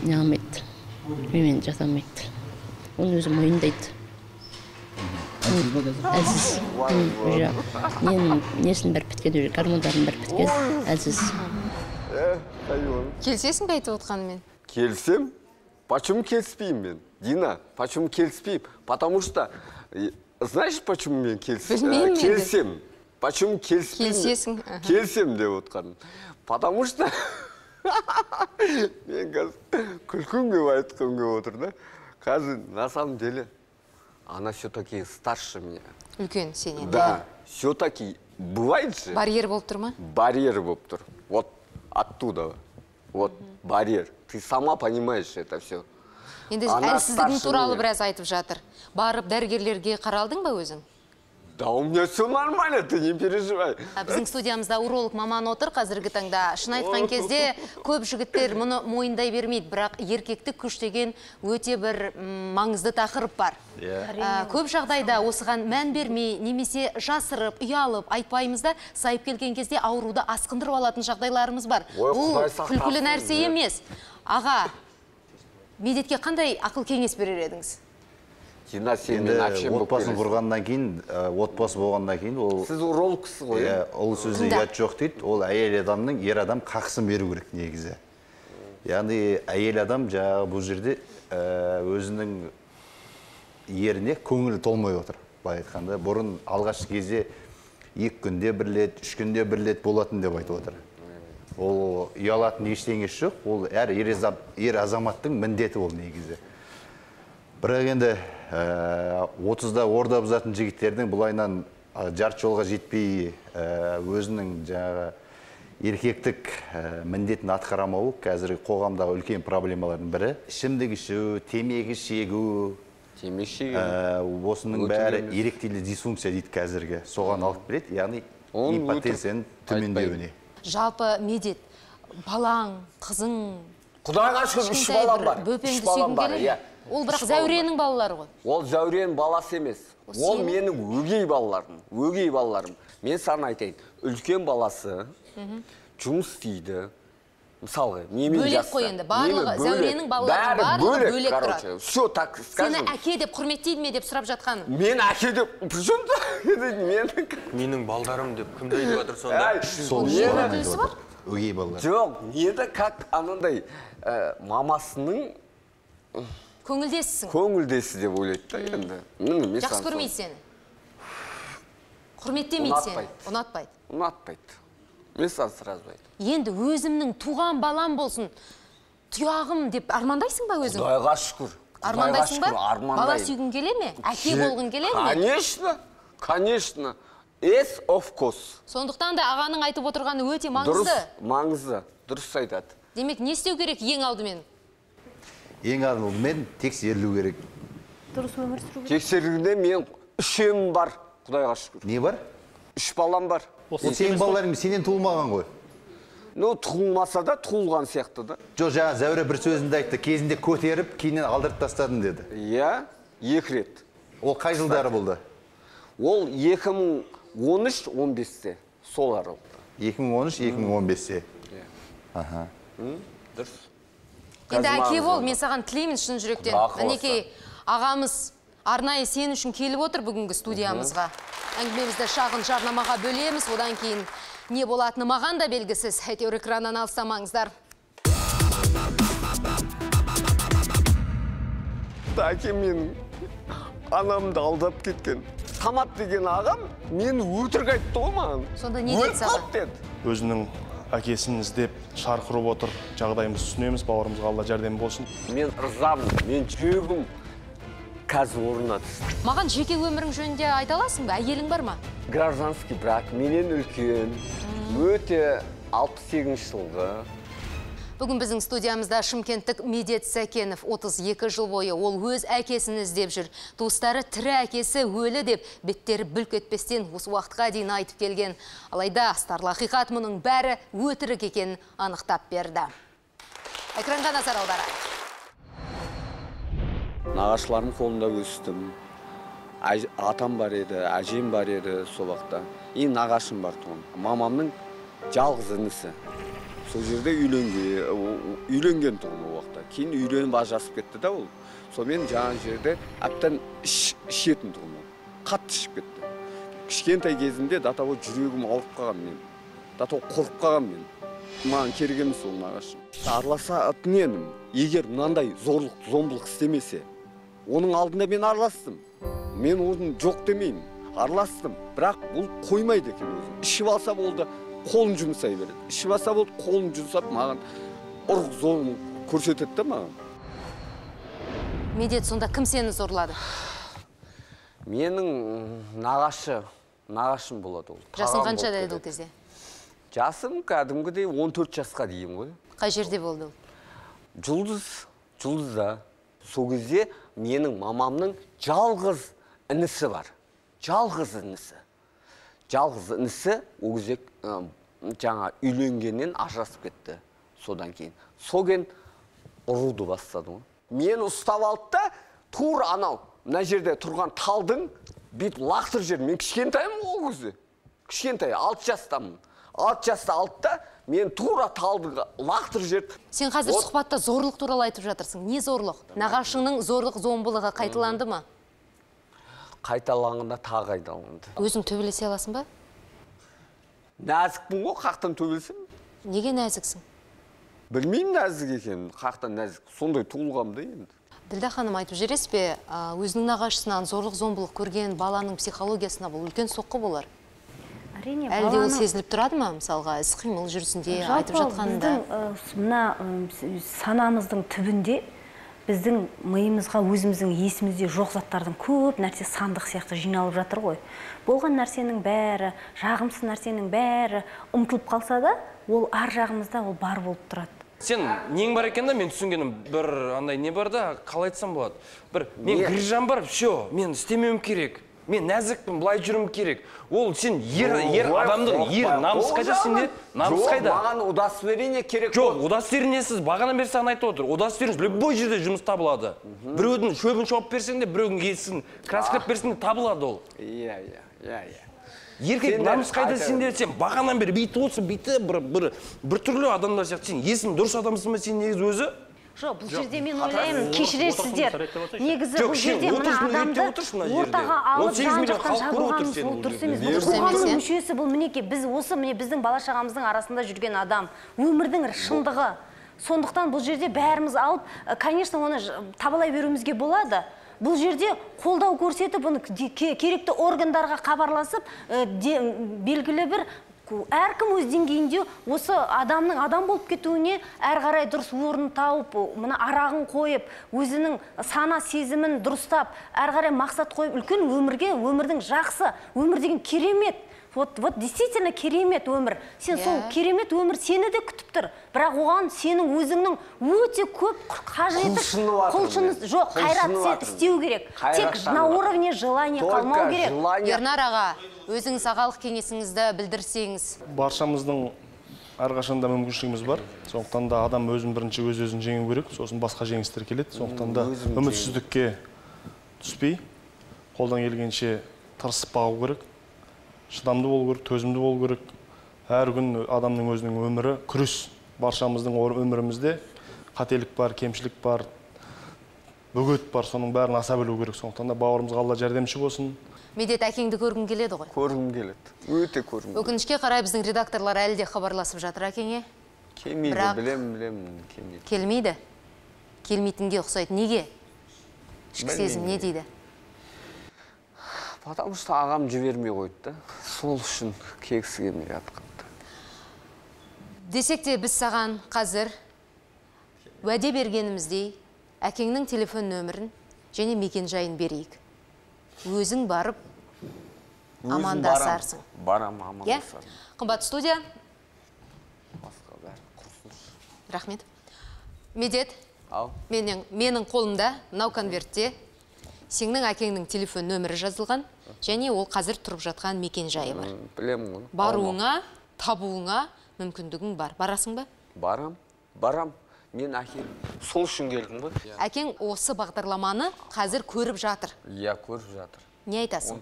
не алмайды, менімен жасамайды. Оны өзі мойындайды. Әлсіз. Несін бәрі біткен, гормондарын бәрі біткен, әлсіз. Келсесің бе айтып отқанымен? Келсем? Почему келіспеймін мен? Дина, почему келіспеймін? Потому что, знаешь, почему мен келсем? Почему келіспеймін? Келсесің. Келсем деп отқаным. Потому что мен қазір күлкім деп айтқым келіп отыр да. Қазір на самом деле она все-таки старше меня. Үлкен сенен. Да, все-таки бывает же. Барьер болып тұр ма? Барьер болып тұр. Вот оттуда. Вот барьер. Ты сама понимаешь это все. Енді әлсіздігің туралы біраз айтып жатыр. Барып дәрігерлерге қаралдың ба өзің? Да, у меня все нормально, ты не переживай. Біздің студиямызда уролог маман отыр қазіргі таңда. Шын айтқан кезде көп жігіттер мұны мойындай бермейді, бірақ еркектік күш деген өте бір маңызды тақырып бар. Көп жағдайда осыған мән бермей, немесе жасырып, ұялып айтпаймыз да, сайып келген кезде ауруды асқындырып алатын жағдайларымыз бар. Бұл күлкілі нәрсе емес. Аға, медетке қандай ақыл кеңес берер едіңіз? Отбасын құрғаннан кейін, отбасы болғаннан кейін, сіз урологсыз ғой. Ол сөзде ұят жоқ дейді, ол әйел адамның ер адам қақсын беру керек негізі. Яғни әйел адам жаңағы бұл жерде өзінің еріне көңілі толмай отыр. Былай айтқанда, бұрын алғашқы кезде 2 күнде бір рет, 3 күнде бір рет болатын деп айтып отыр. Ол ұялатын ештеңесі жоқ, ол әр ер азаматтың міндеті ол негізі. Бірақ енді 30-да орда бұзатын жігіттердің бұлайнан жарты жолға жетпей өзінің жаңағы еркектік міндетін атқарамауы қазіргі қоғамдағы үлкен проблемалардың бірі. Ішімдік ішу, темекі шегу, осының бәрі эректильді дисфункция дейді қазіргі. Соған алып келеді, яғни импотенцияның төмендеуіне. Жалпы медет, балаң, қызың, Құдайға шүкір 3 балам бар. Бөпеңді сүйгің келе ме? Ол бірақ Зәуренің балалары ғой. Ол Зәуренің баласы емес. Ол менің өгей балаларым. Мен саған айтайын, үлкен баласы жұмыс істейді. Мысалға, немен жасты. Бөлек қой енді, барлығы Зәуренің балалары барлығы бөлек тұрады. Все, так скажем. Сені әке деп құрметтейді ме деп сұрап жатқаным? Мен әке деп, причем? Менің балдарым деп кімді айтып жатыр сонда? Сол өкілісі бар? Өгей балалар. Жоқ, енді как анандай мамасының көңілдесі деп ойлайды да енді. Жақсы көрмейді сені? Құрметтемейді сені? Ұнатпайды? Ұнатпайды. Мен саған сразу айтым. Енді өзімнің туған балам болсын, тұяғым деп армандайсың ба өзің? Құдайға шүкір. Армандайсың ба? Бала сүйгің келе ме? Әке болғың келе ме? Конечно, конечно. Yes, of course. Сондықтан да ағаның айтып отырғаны өте маңызды. Маңызды, дұрыс айтады. Демек, не істеу керек ең алдымен? Ең алдымен тексерілу керек. Дұрыс өмір сүру керек. Тексерілгенде мен 3 бар, Құдайға шүкір. Не бар? 3 балам бар. Сенің балаларың сенен туылмаған ғой. Туылмаса да туылған сияқты да. Жоқ, жаңа Зәуре бір сөзінде айтты, кезінде көтеріп, кейіннен алдырып тастадым деді. Иә, 2 рет. Ол қай жылдары болды? Ол 2013-15-те, сол аралықта. 2013-2015-те. Аха. Дұрыс. Енді әке бол, мен саған тілеймін шын жүректен. Мінекей ағамыз арнайы сен үшін келіп отыр бүгінгі студиямызға. Әңгімемізді шағын жарнамаға бөлеміз, одан кейін не болатыны маған да белгісіз. Әйтеуір экраннан алыстамаңыздар. уақытта әкем менің анамды алдап кеткен. Самат деген ағам мені өтірік айтты ғой маған. Сонда не деді саған? Деді. Өзінің әкесін іздеп шарқ ұрып отыр. Жағдайымызды түсінеміз, бауырымызға Алла жәрдем болсын. Мен ырзамын, мен жүрегім қазір орнына түсті. Маған жеке өмірің жөнінде айта аласың ба? Әйелің бар ма? Гражданский брак, менен үлкен, өте 68 жылғы. Бүгін біздің студиямызда шымкенттік Медет Сәкенов 32 жыл бойы ол өз әкесін іздеп жүр. Туыстары тірі әкесі өлі деп беттері бүлк етпестен осы уақытқа дейін айтып келген. Алайда астарлы ақиқат мұның бәрі өтірік екенін анықтап берді. Экранға назар аударайық. Нағашыларым қолында өстім. Атам бар еді, әжем бар еді сол уақытта. Нағашым бар тұғын. Мамамның жалғыз інісі. Сол жерде үйленген тұғын ол уақытта. Кейін үйленіп ажырасып кетті да ол. Сонымен жаңа жерде әптен ішетін тұғын ол. Қатты ішіп кетті. Кішкентай кезімде датаво жүрегім ауырып қалған мен. Датаво қорқып қалған мен. Маған керек емес ол нағашым. Араласа өтінемін. Егер мынандай зомбылық істемесе, оның алдында мен араластым. Мен оның жоқ демеймін. Араластым. Бірақ бұл қоймайды екен өзін. Ішіп алса болды, қолын жұмсай береді. Ішіп алса болды, қолын жұмсап маған ұрық зор көрсетеді да маған. Медет, сонда кім сені зорлады? Менің нағашым болады ол. Жасың қанша деді ол кезде? Жасым кәдімгідей 14 жасқа дейін ғой. Қай жерде болды ол? Жұлдызда. Сол кезде менің мамамның жалғыз інісі бар. Жалғыз інісі, ол кезде жаңа үйленгеннен ажырасып кетті содан кейін. Соген ұруды бастады ғой. Мен ұстап алды да, тур анау, мына жерде тұрған талдың бет лақтыр жер. Мен кішкентайым ол кезде. Кішкентай, 6 жастамын. 6 жаста алды да, мен тура талды лақтыр жер. Сен қазір сұхбатта зорлық туралы айтып жатырсың. Не зорлық? Нағашыңның зорлық зомбылығы қайталанды ма? Қайталанғанда тағы қайталанды. Өзің төбелесе аласың ба? Нәзікпін ғой, қақтан төбелесем. Неге нәзіксің? Білмеймін нәзік екенін, қақтан нәзік. Сондай туылғамды енді. Ділда ханым, айтып жүресіз бе, өзінің нағашысынан зорлық зомбылық көрген баланың психологиясына бұл үлкен соққы болар? Әрине, әлде ол сезіліп тұрады ма, мысалға, іс-қимыл жүрісінде айтып жатқанында? Мына санамыздың түбінде біздің миымызға өзіміздің есімізде жоқ заттардың көп нәрсе сандық сияқты жиналып жатыр ғой. Болған нәрсенің бәрі, жағымсыз нәрсенің бәрі ұмытылып қалса да, ол ар жағымызда ол бар болып тұрады. Сен нең бар екен да, мен түсінгенім бір андай не бар да, қалай айтсам болады. Мен грижам бар, все, мен істемеуім керек. Мен нәзікпін, былай жүрім керек. Ол сен ер адамдың, ер намыс қайда сенде? Намыс қайда? Маған удостоверение керек. Жоқ, удостоверениесіз бағана бері саған айтып отыр. Удостоверениесіз любой жерде жұмыс табылады. Біреудің шөбін шауып берсең де, біреудің есін краскілеп берсең де табылады ол. Иә. Еркек намыс қайда сенде? Сен бағанан бері бейті отсың, бейті бір түрлі адамдар сияқты. Сен есің дұрыс адамсың ба сен негізі өзі? Жоқ, бұл жерде мен ойлаймын, кешіресіздер. Негізі бұл жерде мына адамды ортаға алып жан-жақтан жабылғанымыз ол дұрыс емес. Бұл қоғамның мүшесі бұл мінеке. Біз осы біздің бала-шағамыздың арасында жүрген адам. Өмірдің шындығы. Сондықтан бұл жерде бәріміз алып, конечно, оны табалай беруімізге болады. Бұл жерде қолдау көрсетіп, оны керекті органдарға хабарласып, белгілі бір әркім өз деңгейінде осы адамның адам болып кетуіне әр қарай дұрыс орын тауып, мына арағын қойып, өзінің сана сезімін дұрыстап, әр қарай мақсат қойып, үлкен өмірге, өмірдің жақсы, өмір деген керемет. Вот действительно керемет өмір. Сен сол керемет өмір сені де күтіп тұр. Бірақ оған сенің өзіңнің өте көп қажеті құлшыныс жоқ, қайрат сен істеу керек. Тек на уровне желания қалмау керек. Ернар аға, өзіңіз ағалық кеңесіңізді білдірсеңіз. Баршамыздың әрқашанда мүмкіншілігіміз бар. Сондықтан да адам өзін бірінші өз-өзін жеңу керек, сосын басқа жеңістер келеді. Сондықтан да үмітсіздікке түспей, қолдан келгенше тырысып бағу керек. Шыдамды болу керек, төзімді болу керек. Әр күн адамның өзінің өмірі күрес. Баршамыздың өмірімізде қателік бар, кемшілік бар, бөгет бар, соның бәрін аса білу керек. Сондықтан да бауырымызға Алла жәрдемші болсын. Медет, әкеңді көргің келеді ғой? Көргім келеді. Өте көргім келеді. Өкінішке қарай біздің редакторлар әлі де хабарласып жатыр әкеңе. Келмейді, білем, келмейді. Келмейді? Келмейтінге ұқсайды. Неге? Ішкі сезім не дейді? Потому что ағам жібермей қойды да. Сол үшін кегісі келмей жатқанды. Десек те біз саған қазір уәде бергеніміздей әкеңнің телефон нөмірін және мекен жайын берейік. Өзің барып амандасарсың. Барам амандасарсың. Қымбат студия. Рахмет. Медет, менің қолымда мынау конвертте сенің әкеңнің телефон нөмірі жазылған, және ол қазір тұрып жатқан мекен жайы бар. Білемін ғой. Баруыңа, табуыңа мүмкіндігің бар. Барасың ба? Барам. Мен әкем сол үшін келдім ғой. Әкең осы бағдарламаны қазір көріп жатыр. Иә, көріп жатыр. Не айтасың?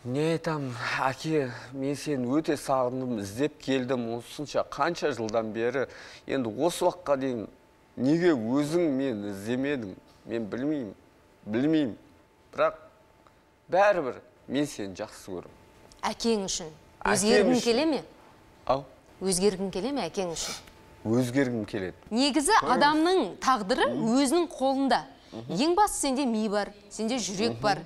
Не айтам, әке, мен сені өте сағындым, іздеп келдім, осынша қанша жылдан бері. Енді осы уақытқа дейін неге өзің мен іздемедің? Мен білмеймін. Бірақ бәрібір мен сені жақсы көрім. Әкең үшін өзгергің келе ме? Ау? Өзгергің келе ме әкең үшін? Өзгергім келеді. Негізі адамның тағдыры өзінің қолында. Ең басы сенде ми бар, сенде жүрек бар.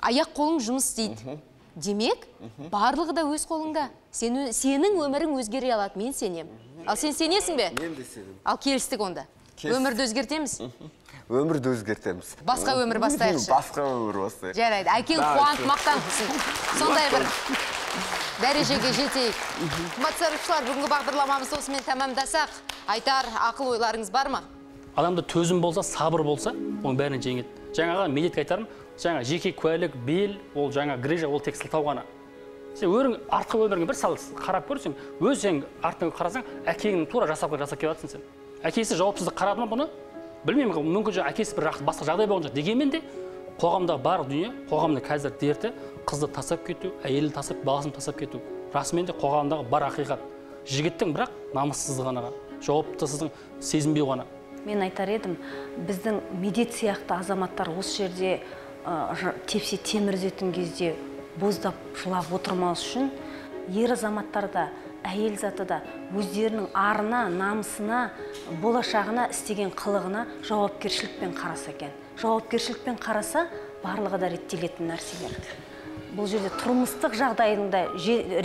Аяқ қолың жұмыс істейді. Демек, барлығы да өз қолыңда. Сенің өмірің өзгере алады, мен сенем. Ал сен сенесің бе? Мен де сенем. Ал келістік онда. Өмірді өзгертеміз? Өмірді өзгертеміз. Басқа өмір бастайықшы. Басқа өмір бастайық. Жарайды, әкең қуанып мақтан қылсын. Сондай бір дәрежеге жетейік. Қымбатты сарапшылар, бүгінгі бағдарламамызды осымен тәмамдасақ, айтар ақыл ойларыңыз бар ма? Адамда төзім болса, сабыр болса, оның бәріне жеңеді. Жаңаға медетке айтарым, жаңа жеке куәлік, бел, ол жаңа грижа, ол тек сылтау ғана. Сен артқы өміріңе бір сал қарап көрсең, өз сен артыңа қарасаң, әкеңнің тура жасап келіп жатсың сен. Әкесі жауапсыздық қарады ма бұны? Білмеймін, мүмкін әкесі бір басқа жағдай болған жоқ. Дегенмен де қоғамда бар дүние, қоғамның қазір дерті қызды тастап кету, әйелді тастап, баласын тастап кету. Расымен де қоғамдағы бар ақиқат. Жігіттің бірақ намыссыздығына, жауаптысыздың сезінбеу ғана. Мен айтар едім, біздің медет сияқты азаматтар осы жерде тепсе темір үзетін кезде боздап жылап отырмау үшін ер азаматтар да, әйел заты да өздерінің арына, намысына, болашағына, істеген қылығына жауапкершілікпен қараса екен. Жауапкершілікпен қараса, барлығы да реттелетін нәрселер. Бұл жерде тұрмыстық жағдайдың да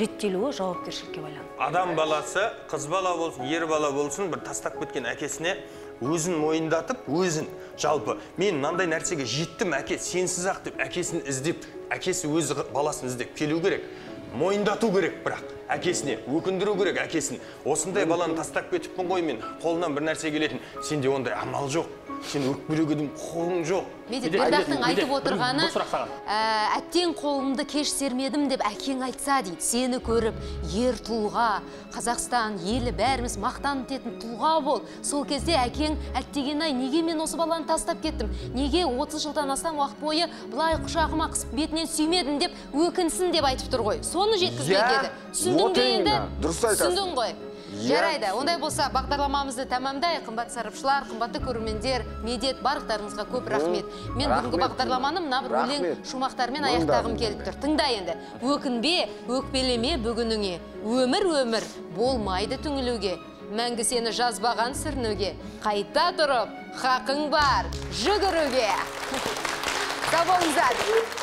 реттелуі жауапкершілікке байланысты. Адам баласы, қыз бала болсын, ер бала болсын, бір тастап кеткен әкесіне өзін мойындатып, өзін жалпы мен мынандай нәрсеге жеттім, әке сенсіз ақ деп әкесін іздеп, әкесі өз баласын іздеп келу керек. Мойындату керек, бірақ әкесіне өкіндіру керек әкесін. Осындай баланы тастап кетіппін ғой мен, қолынан бір нәрсе келетін. Сенде ондай амал жоқ. Сен өкпелегенің құқығың жоқ. Бердақтың айтып отырғаны, әттең қолымды кеш сермедім деп әкең айтса дейді. Сені көріп, ер тұлға, Қазақстан, елі бәріміз мақтан ететін тұлға бол. Сол кезде әкең әттеген-ай, неге мен осы баланы тастап кеттім? Неге 30 жылдан астам уақыт бойы бұлай құшағыма қысып бетінен сүймедім деп өкінсін деп айтып тұр ғой. Соны жеткізбек еді. Түсіндің бе енді? Түсіндің ғой. Жарайды, ондай болса бағдарламамызды тәмамдайық. Қымбатты сарапшылар, қымбатты көрермендер, медет барлықтарыңызға көп рахмет. Мен бүгінгі бағдарламаны мына бір өлең шумақтармен аяқтағым келіп тұр. Тыңда енді. Өкінбе, өкпелеме бүгініңе. Өмір болмайды түңілуге. Мәңгі сені жазбаған сүрінуге. Қайта тұрып, хақың бар жүгіруге. Сау болыңыздар.